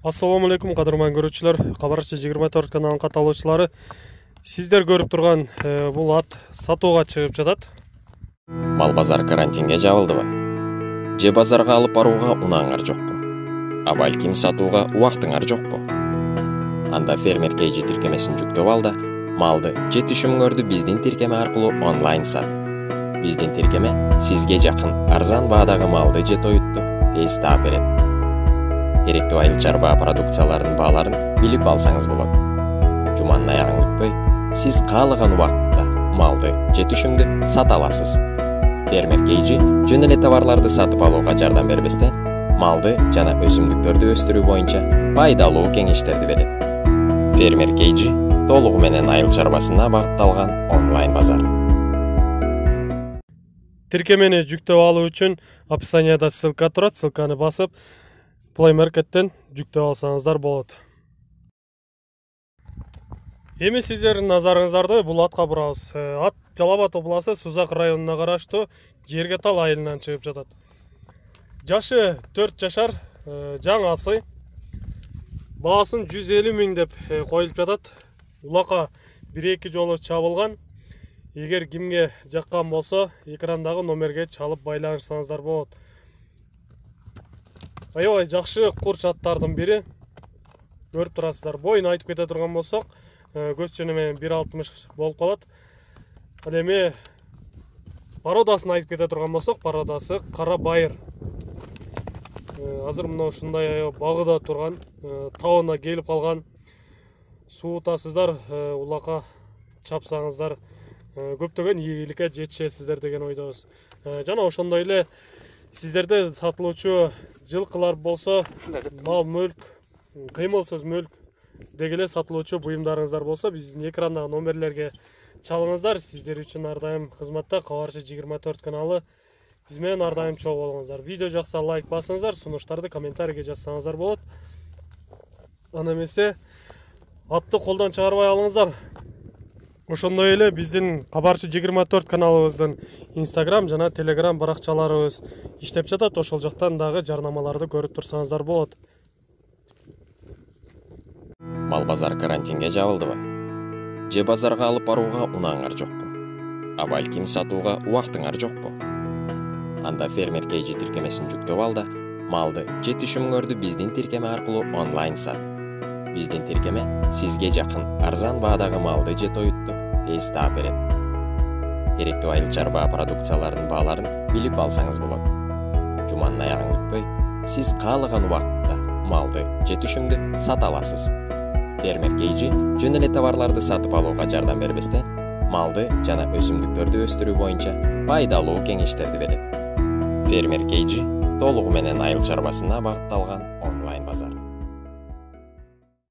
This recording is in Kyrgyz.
Assalamu alaikum кадырман көрүүчүлөр, Кабарчы 24 каналынын катталуучулары. Сиздер көрүп турган бул ат сатууга чыгып жатат. Мал базар карантинге жабылдыбы? Же базарга алып барууга унааңар жокпу? А балким сатууга убактыңар жокпу? Анда фермер KG тиркемесин жүктөп ал да, малды же түшүмүңөрдү биздин тиркеме аркылуу онлайн сат. Биздин тиркеме сизге жакын арзан баадагы малды же тоютту тез таап берет. Керектүү айыл чарба продукцияларынын бааларын билип алсаңыз болот. Жуманын аягын күтпөй, сиз каалаган убакытта малды же түшүмдү сата аласыз. Фермер KG жөн эле товарларды сатып алууга жардам бербестен, малды жана өсүмдүктөрдү өстүрүү боюнча пайдалуу кеңештерди берет. Фермер KG толугу менен айыл чарбасына багытталган онлайн базар. Тиркемени жүктөп алуу үчүн описанияда ссылка турат, ссылканы басып Play Market'ten жүктөп алсаңыздар болот. Эми сиздердин назарыңыздарды бул атка бурабыз. Ат Жалал Абад областы Сузак районуна караштуу Жергетал айылынан чыгып жатат. Жашы 4 жашар, жаңасы. Баасын 150 миң деп коюлуп жатат. Улака 1-2 жолу чабылган. Эгер кимге жаккан болсо, экрандагы номерге чалып байланышсаңыздар болот. Аябай жакшы курч аттардын бири. Көрүп турасыздар. Боюн айтып кете турган болсок, көз чөнү менен 1.60 болуп калат. Ал эми пародасын айтып кете турган болсок, пародасы кара байыр. Азыр мына ушундай багыда турган, табына келип калган. Суутасыздар, улака чапсаңыздар, көптөгөн ийгиликке жетишесиздер деген ойдобуз. Жана ошондой эле сиздерде сатылуучу жылкылар болсо, мал мүлк, кыймылсыз мүлк дегеле сатылуучу буюмдарыңыздар болсо, биздин экрандагы номерлерге чалыңыздар. Сиздер үчүн ар дайым кызматта Кабарчы 24 каналы. Биз менен ар дайым чогуу болуңуздар. Видео жакса лайк басыңыздар, сунуштарды комментарийге жазсаңыздар болот. Аны эмесе атты колдон чыгарбай алыңыздар. Ошондой эле биздин Кабарчы 24 каналыбыздын Instagram жана Telegram баракчаларыбыз иштеп жатат. Ошол жактан дагы жарнамаларды көрүп турсаңыздар болот. Мал базар карантинге жабылдыбы? Же базарга алып барууга унааңар жокпу? А балким сатууга убактыңар жокпу? Анда фермер KG тиркемесин жүктөп ал да, малды же түшүмүңөрдү биздин тиркеме аркылуу онлайн сат. Биздин тиркеме сизге жакын арзан баадагы малды же тоютту тез таап берет. Керектүү айыл чарба продукцияларынын бааларын билип алсаңыз болот. Жуманын аягын күтпөй, сиз каалаган убакытта малды же түшүмдү сата аласыз. Фермер KG жөн эле товарларды сатып алууга жардам бербестен, малды жана өсүмдүктөрдү өстүрүү боюнча пайдалуу кеңештерди берет. Фермер KG толугу менен айыл чарбасына багытталган онлайн базар.